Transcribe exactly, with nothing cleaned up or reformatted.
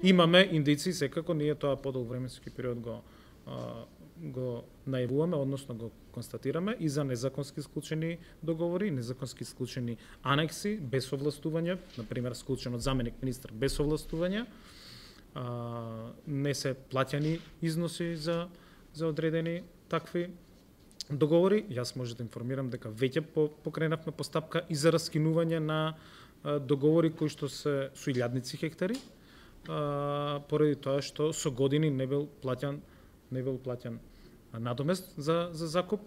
Имаме индици, секако ние тоа подолг временски период го а, го најавуваме, односно го констатираме и за незаконски склучени договори, незаконски склучени анекси без овластување, на пример склучен од заменик министар без овластување, а, не се плаќани износи за за одредени такви договори. Јас може да информирам дека веќе покренавме постапка и за раскинување на а, договори кои што се со илјадници хектари, а, поради тоа што со години не бил плаќан не бил плаќан надомест за за закуп.